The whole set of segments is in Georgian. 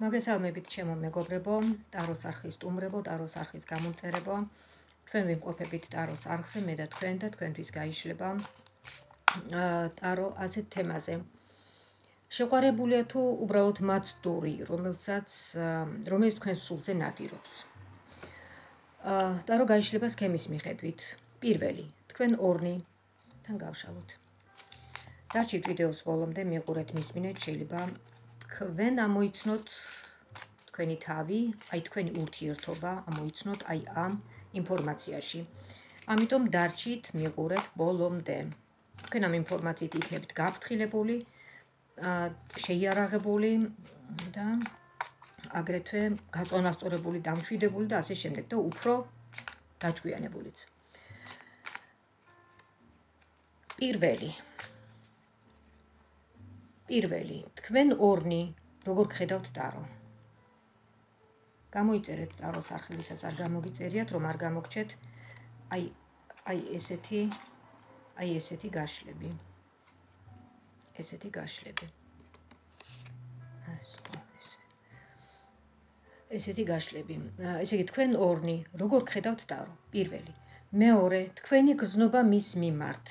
მოგესალმებით ჩემო მეგობრებო, ტაროს არხის სტუმრებო, ტაროს არხის გამომწერებო. ჩვენ ვიმყოფებით ტაროს არხზე, მე და თქვენთვის გაიშლება ტარო ასეთ თემაზე. შეყვარებულია თუ უბრალოდ მაცდური, რომელიც თქვენ სულზე ნადირობს. ტარო გაიშლება სქემის მიხედვით. პირველი, თქვენ ორნიდან გავშალოთ. დარჩით ვიდეოს ბოლომდე, მიყურეთ, მისმინეთ, შეიძლება თქვენ ამოიცნოთ თქვენი თავი, აი თქვენი ურთიერთობა ამოიცნოთ აი ამ ინფორმაციაში. ამიტომ დარჩით, მიყურეთ ბოლომდე. თქვენ ამ ინფორმაციით იქნებით გაფრთხილებული, შეიარაღებული და აგრეთვე გაწონასწორებული, დამშვიდებული და ასე შემდეგ და უფრო დაჭკვიანებულიც. პირველი, თქვენ ორნი როგორ გხედავთ ტარო? გამოიწერეთ ტაროს არხივისაც არ გამოგიწერიათ, რომ არ გამოგჩეთ აი ესეთი გაშლები. ესეთი გაშლები. ესე იგი, თქვენ ორნი როგორ გხედავთ ტარო? პირველი. მეორე, თქვენი გრძნობა მის მიმართ.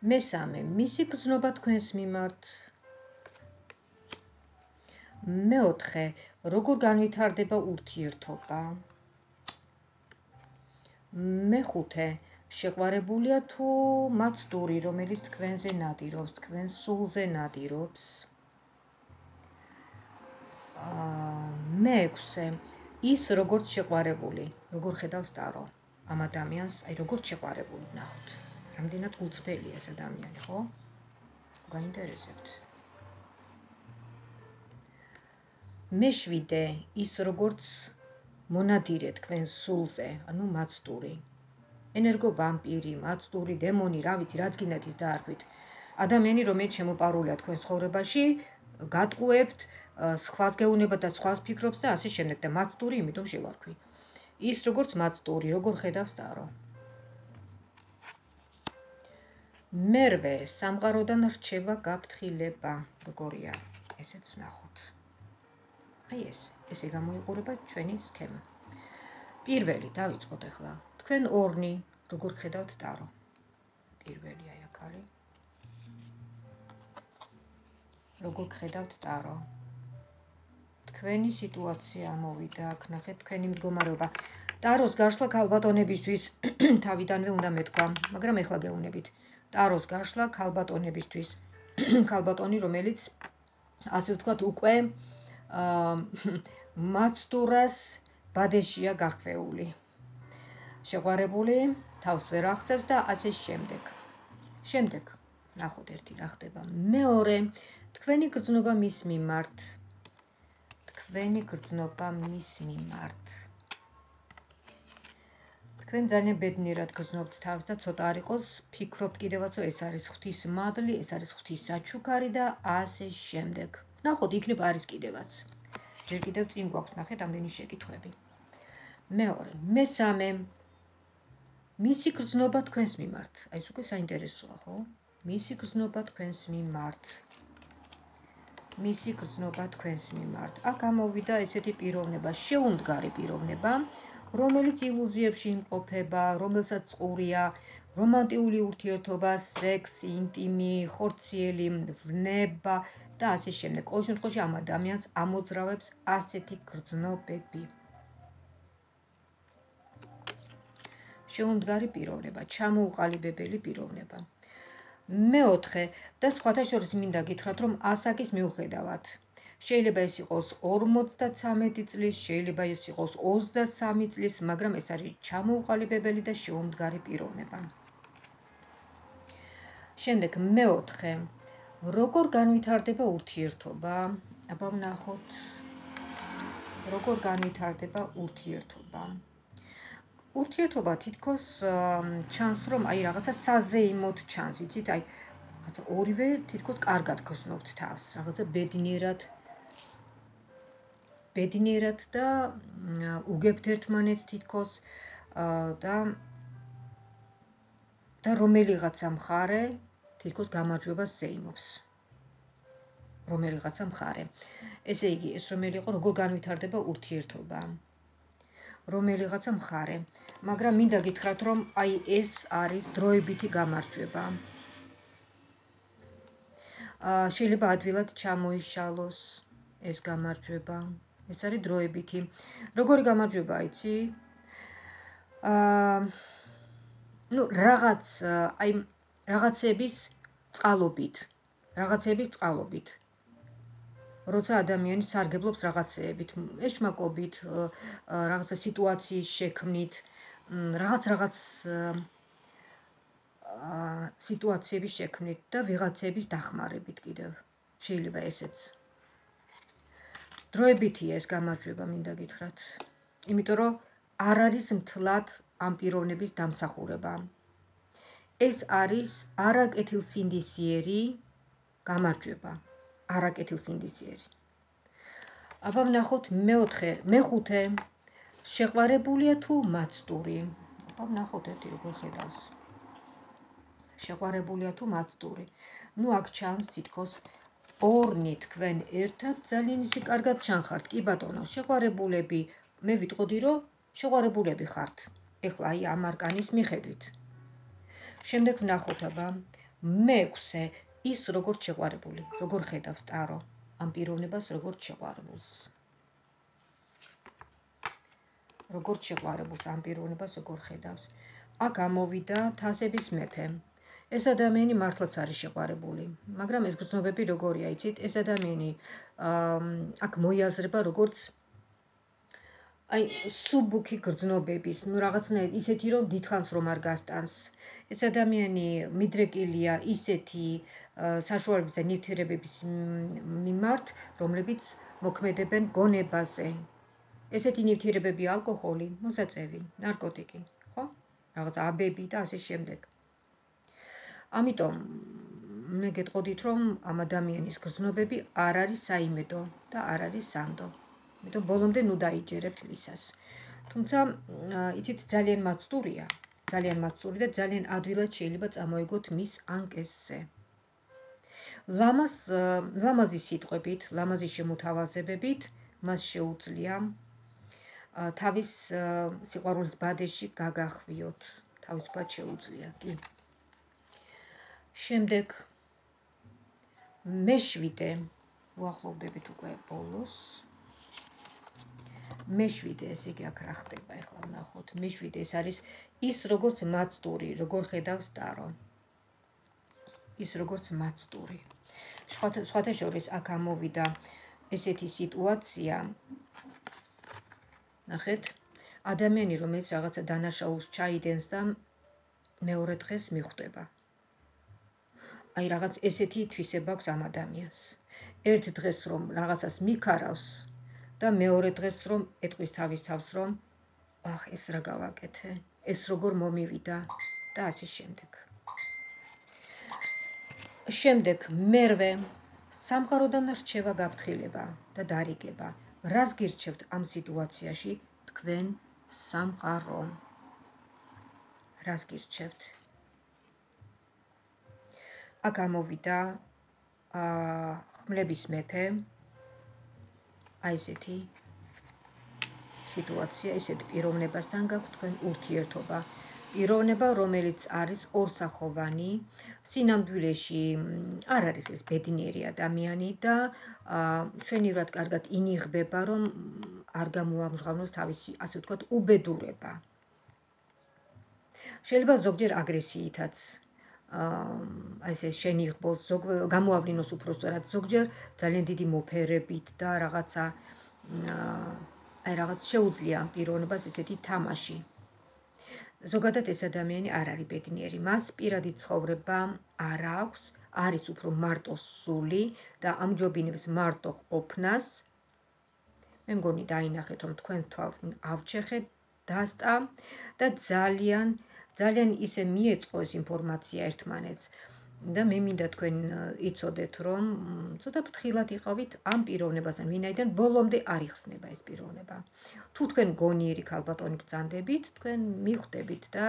მესამე, მისი გრძნობა თქვენს მიმართ. მეოთხე, როგორ განვითარდება ურთიერთობა. მეხუთე, შეყვარებულია თუ მაცდური, რომელიც თქვენზე ნადირობს, თქვენ სულზე ნადირობს. მეექვსე, ის როგორც შეყვარებული, როგორ ხედავს ტარო ამ ადამიანს, აი როგორც შეყვარებული ნახოთ. რამდენად უცბელია ეს ადამიანი, ხო? გაინტერესებთ. მეშვიდე, ის როგორც მონადირე თქვენ სულზე, ანუ მაცდური. ენერგო ვამპირი, მაცდური, დემონი, რა ვიცი, რაც გინდათ ის დაარქვით. ადამიანი, რომელიც შემოპარულია თქვენ ცხოვრებაში, გატყუებთ, სხვას გეუნება და სხვას ფიქრობს და ასე შემდეგ და მაცდური, იმიტომ შევარქვი. ის როგორც მაცდური, როგორ ხედავს ტარო? მერვე, სამყაროდან რჩება გაფრთხილება. როგორია? ესეც ნახოთ. აი ესე გამოიყურება ჩვენი სქემა. პირველი, დავიწყოთ ახლა. თქვენ ორნი როგორ ხედავთ ტარო? პირველი აი აქ არის. როგორ ხედავთ ტარო? თქვენი სიტუაცია მოვიდა, აქ ნახეთ თქვენი მდგომარეობა. ტაროს გაშლა ქალბატონებისთვის თავიდანვე უნდა მეთქვა, მაგრამ ახლა გეუნებით. ტაროს გაშლა ქალბატონებისთვის. ქალბატონი, რომელიც ასე ვთქვათ, უკვე მაცდურას ბადეშია გახვეული. შეყვარებული, თავს ვერ აღწევს და ასე შემდეგ. შემდეგ, ნახოთ ერთი რა ხდება. მეორე, თქვენი გრძნობა მის მიმართ. თქვენ ძალიან ბედნიერად გრძნობთ თავს და ცოტა არ იყოს, ფიქრობთ კიდევაც, ეს არის ღვთის მადლი, ეს არის ღვთის საჩუქარი და ასე შემდეგ. ნახოთ, იქნებ არის კიდევაც. ჯერ კიდევ წინ გვაქვს, ნახეთ, ამდენი შეკითხვები. მეორე, მესამე, მისი გრძნობა თქვენს მიმართ. აი ეს უკვე საინტერესოა, ხო? მისი გრძნობა თქვენს მიმართ. აქ გამოვიდა ესეთი პიროვნება, შეუმდგარი პიროვნება, რომელიც ილუზიებში იმყოფება, რომელსაც წყურია, რომანტიული ურთიერთობა, სექსი, ინტიმი, ხორციელი, ვნება და ასე შემდეგ. ყოველ შემთხვევაში ამ ადამიანს ამოძრავებს ასეთი გრძნობები. შეუმდგარი პიროვნება, ჩამოუყალიბებელი პიროვნება. მეოთხე და სხვათა შორის მინდა გითხრათ, რომ ასაკის მიუხედავად, შეიძლება ეს იყოს 53 წლის, შეიძლება ეს იყოს 23 წლის, მაგრამ ეს არის ჩამოუყალიბებელი და შეუმდგარი პიროვნება. შემდეგ, მეოთხე, როგორ განვითარდება ურთიერთობა? აბა ვნახოთ, როგორ განვითარდება ურთიერთობა. ურთიერთობა თითქოს ჩანს, რომ აი რაღაცა საზეიმოდ ჩანს, იცით, აი რაღაცა ორივე თითქოს კარგად გრძნობთ თავს, რაღაცა ბედნიერად და უგებთ ერთმანეთს თითქოს და რომელიღაცა მხარე თითქოს გამარჯვებას ზეიმობს რომელიღაცა მხარე. ესე იგი, ეს რომელი იყო, როგორ განვითარდება ურთიერთობა. რომელიღაცა მხარე, მაგრამ მინდა გითხრათ, რომ აი ეს არის დროებითი გამარჯვება. შეიძლება ადვილად ჩამოიშალოს ეს გამარჯვება. ეს არის დროებითი. როგორი გამარჯვება იცი? რაღაცების წყალობით. როცა ადამიანი სარგებლობს რაღაცეებით, ეშმაკობით, რაღაცა სიტუაციის შექმნით, რაღაც სიტუაციების შექმნით და ვიღაცების დახმარებით კიდევ. შეიძლება ესეც. დროებითია ეს გამარჯვება, მინდა გითხრათ. იმიტომ რომ არ არის მთლად ამ პიროვნების დამსახურება. ეს არის არაკეთილსინდისიერი გამარჯვება. არაკეთილსინდისიერი. აბა ვნახოთ მეხუთე. შეყვარებულია თუ მაცდური? აბა ვნახოთ ერთი როგორ ხედავს. შეყვარებულია თუ მაცდური? ნუ აქ ჩანს თითქოს ორნი თქვენ ერთად ძალიან ისე კარგად ჩანხართ. კი ბატონო, შეყვარებულები, მე ვიტყოდი რომ შეყვარებულები ხართ. ეხლა აი ამ არკანის მიხედვით. შემდეგ ვნახოთ აბა მეექვსე. ის როგორ შეყვარებული, როგორ ხედავს ტარო ამ პიროვნებას, როგორ შეყვარებულს. როგორ შეყვარებულს ამ პიროვნებას, როგორ ხედავს. აქ ამოვიდა თასების მეფე. ეს ადამიანი მართლაც არის შეყვარებული, მაგრამ ეს გრძნობები როგორია, იცით? ეს ადამიანი აქ მოიაზრება როგორც აი სუბუქი გრძნობების, ნუ რაღაცნაირად ისეთი რომ დიდხანს რომ არ გასტანს. ეს ადამიანი მიდრეკილია ისეთი საშუალებების და ნივთიერებების მიმართ, რომლებიც მოქმედებენ გონებაზე. ესეთი ნივთიერებები ალკოჰოლი, მოსაწევი, ნარკოტიკი, ხო? რაღაც აბები და ასე შემდეგ. ამიტომ მე გეტყოდით რომ ამ ადამიანის გრძნობები არ არის საიმედო და არ არის სანდო. ამიტომ ბოლომდე ნუ დაიჯერებთ მისას. თუმცა იცით ძალიან მაცდურია, ძალიან მაცდური და ძალიან ადვილად შეიძლება წამოიგოთ მის ანკესზე. ლამაზი სიტყვებით, ლამაზი შემოთავაზებებით მას შეუძლია თავის სიყვარულის ბადეში გაგახვიოთ, თავისუფლად შეუძლია, კი. შემდეგ მეშვიდე უახლოვდებით უკვე ბოლოს. მეშვიდე, ესე იგი აქ რა ხდება, ეხლა ვნახოთ. მეშვიდე ეს არის ის როგორც მაცდური, როგორ ხედავს ტარო. ის როგორც მაცდური. სხვათა შორის აქ ამოვიდა ესეთი სიტუაცია. ნახეთ, ადამიანი რომელიც რაღაცა დანაშაულს ჩაიდენს და მეორე დღეს მიხვდება. აი რაღაც ესეთი თვისება აქვს ამ ადამიანს. ერთ დღეს რომ რაღაცას მიქარავს და მეორე დღეს რომ ეტყვის თავის თავს რომ ეს რა გავაკეთე, ეს როგორ მომივიდა და ასე შემდეგ. შემდეგ მერვე სამყაროდან რჩევა გაფრთხილება და დარიგება. რას გირჩევთ ამ სიტუაციაში თქვენ სამყარო? რას გირჩევთ? აქ ამოვიდა ხმლების მეფე. აი ესეთი სიტუაცია, ესეთ პიროვნებასთან გაქვთ თქვენ ურთიერთობა. პიროვნება, რომელიც არის ორსახოვანი, სინამდვილეში არ არის ეს ბედნიერი ადამიანი და შვენივრად კარგად ინიღბება, რომ არ გამოამჟღავნოს თავისი, ასე ვთქვათ, უბედურება. შეიძლება ზოგჯერ აგრესიითაც ესე შენიღბოს, გამოავლინოს უпростоრად, ზოგჯერ ძალიან დიდი მოფერებით და რაღაცა რაღაც შეუძლია ამ პიროვნებას ესეთი თამაში. ზოგადად ეს ადამიანი არ არის ბედნიერი, მას პირადი ცხოვრება არ აქვს, არის უფრო მარტოსული და ამჯობინებს მარტო ყოფნას. მე მგონი დაინახეთ, რომ თქვენ თვალწინ ავჩეხეთ, დასტა და ძალიან ისე მიეწყო ეს ინფორმაცია ერთმანეთს და მე მინდა თქვენ იცოდეთ, რომ ცოტა ფრთხილად იყავით ამ პიროვნებასთან, ვინაიდან ბოლომდე არ იხსნება ეს პიროვნება. თუ თქვენ გონიერი ქალბატონი ბრძანდებით, თქვენ მიხვდებით და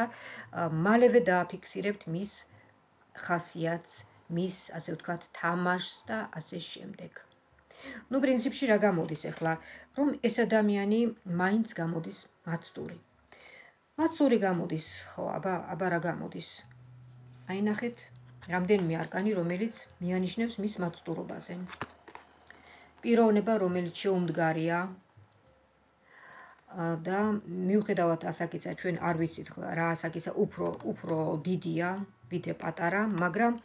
მალევე დააფიქსირებთ მის ხასიათს, მის, ასე ვთქვათ, თამაშს და ასე შემდეგ. ნუ პრინციპში რა გამოდის ახლა, რომ ეს ადამიანი მაინც გამოდის მაცდური. მაცდური გამოდის, ხო, აბა რა გამოდის? აი ნახეთ, რამდენიმე არკანი, რომელიც მიანიშნებს მის მაცდურობაზე. პიროვნება, რომელიც შეუმდგარია და მიუხედავად ასაკისა, ჩვენ არ ვიცით რა ასაკისა, უფრო დიდია, ვიდრე პატარა, მაგრამ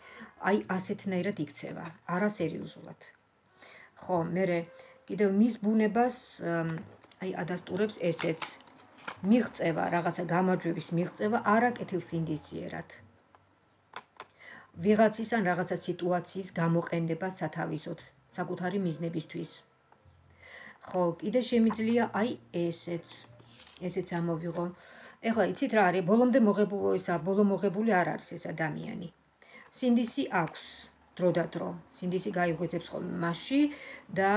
აი ასეთნაირად იქცევა, არასერიოზულად. ხო, მერე კიდევ მის ბუნებას აი ადასტურებს ესეც მიღწევა, რაღაცა გამარჯვების მიღწევა არა კეთილსინდისიერად. ვიღაცის ან რაღაცა სიტუაციის გამოყენება სათავისოდ, საკუთარი მიზნებისთვის. ხო, კიდე შემიძლია აი ესეც ამოვიღო. ეხლა იცით რა არის, ბოლო მოღებული არ არის ეს ადამიანი. სინდისი აქვს დროდადრო. სინდისი გაიღვიძებს ხოლმე მასში და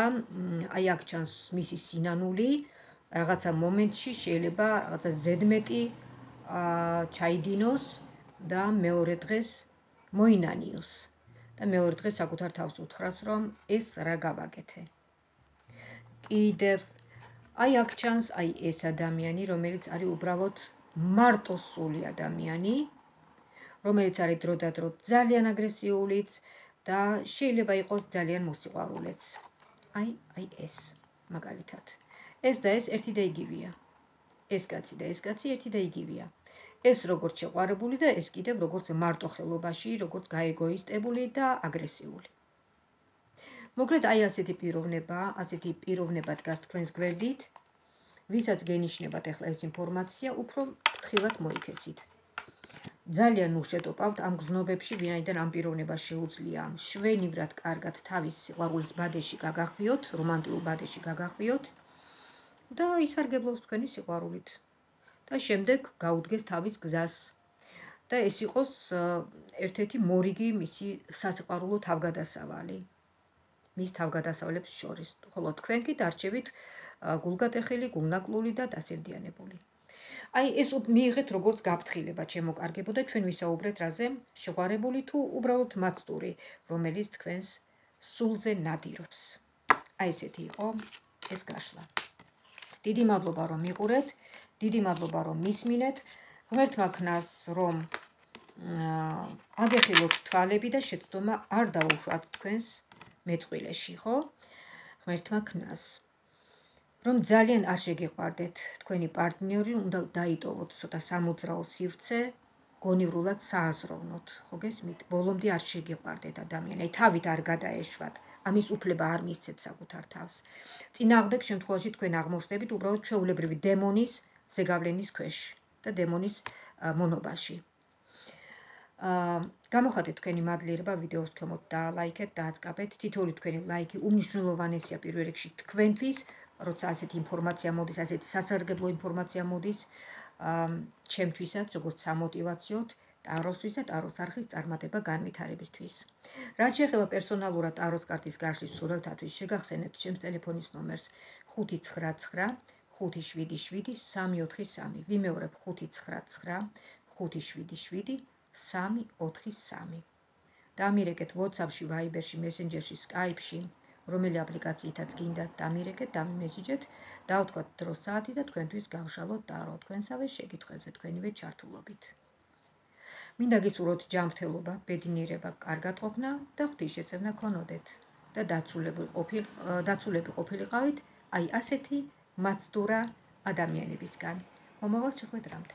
აი აქ ჩანს მისი სინანული, რაღაცა მომენტში შეიძლება რაღაცა ზედმეტი ჩაიდინოს და მეორე დღეს მოინანიოს. და მეორე დღეს საკუთარ თავს უთხრას, რომ ეს რა გავაკეთე. კიდევ აი აქ ჩანს აი ეს ადამიანი, რომელიც არის უბრალოდ მარტოსული ადამიანი, რომელიც არის დროდადრო ძალიან აგრესიულიც და შეიძლება იყოს ძალიან მოსიყვარულეც. აი ეს მაგალითად. ეს და ეს ერთი და იგივეა. ეს კაცი და ეს კაცი ერთი და იგივეა. ეს როგორც შეყვარებული და ეს კიდევ როგორც მარტოხელობაში, როგორც გაეგოისტებული და აგრესიული. მოკლედ აი ასეთი პიროვნება დგას თქვენს გვერდით, ვისაც გენიშნებათ ახლა ეს ინფორმაცია, უფრო ფრთხილად მოიქეცით. ძალიან უშეტოპავთ ამ გზნობებში, ვინაიდან ამ პიროვნებას შეუძლია შვენივრად კარგად თავის სიყვარულის ბადეში გაგახვიოთ, რომანტიკულ ბადეში გაგახვიოთ და ისარგებლოს თქვენი სიყვარულით. და შემდეგ გაუდგეს თავის გზას. და ეს იყოს ერთ-ერთი მორიგი მისი სასიყვარულო თავგადასავალი. მის თავგადასავლებს შორის. ხოლო თქვენ კი დარჩებით გულგატეხილი, გულნაკლული და დასევდიანებული. აი ეს მიიღეთ როგორც გაფრთხილება, ჩემო კარგებო და ჩვენ ვისაუბრეთ რაზე? შეყვარებული თუ უბრალოდ მაცდური, რომელიც თქვენს სულზე ნადირობს. აი ესეთი იყო ეს გაშლა. დიდი მადლობა რომ მიყურეთ, დიდი მადლობა რომ მისმინეთ. ღმერთმა ქნას რომ აგეხილოთ თვალები და შეცდომა არ დაუშვათ თქვენს მეწყვილეში, ხო? ღმერთმა ქნას რომ ძალიან არ შეგიყვარდეთ თქვენი პარტნიორი, უნდა დაიტოვოთ ცოტა სამოძრაო სივრცე, გონივრულად სააზროვნოთ, ხო გესმით? ბოლომდე არ შეგიყვარდეთ ადამიანი, აი თავით არ გადაეშვათ, ამის უფლება არ მისცეთ საკუთარ თავს. წინააღმდეგ შემთხვევაში თქვენ აღმოჩნდებით უბრალოდ ჩვეულებრივი დემონის ზეგავლენის ქვეშ და დემონის მონობაში. გამოხატეთ თქვენი მადლიერება ვიდეოს ქვემოთ და ლაიქეთ და აწყაბეთ. თითოეული თქვენი ლაიქი უმნიშვნელოვანესია პირველ რიგში თქვენთვის, როცა ასეთი ინფორმაცია მოდის, ასეთი სასარგებლო ინფორმაცია მოდის ჩემთვისაც, როგორც სამოტივაციოდ, ტაროსთვის და ტაროს არხის წარმატება განვითარებისთვის. რაც შეეხება პერსონალურად ტაროს კარტის გაშლის სურათათვის, შეგახსენებთ ჩემს ტელეფონის ნომერს 599 577 343. ვიმეორებ 599 577 343. დამირეკეთ WhatsApp-ში, Viber-ში, Messenger-ში, Skype-ში, რომელი აპლიკაციითაც გინდათ დამირეკეთ, დამიმესიჯეთ, დავთქვათ დრო საათი და თქვენთვის გავშალოთ ტარო თქვენსავე შეკითხვებზე თქვენივე ჩართულობით. მინდა გისურვოთ ჯანმრთელობა, ბედნიერება, კარგატყოფნა და ღვთისშეწევნა ქონოდეთ და დაცულები ყოფილიყავით აი ასეთი მაცდურა ადამიანებისგან. მომავალ შეხვედრამდე.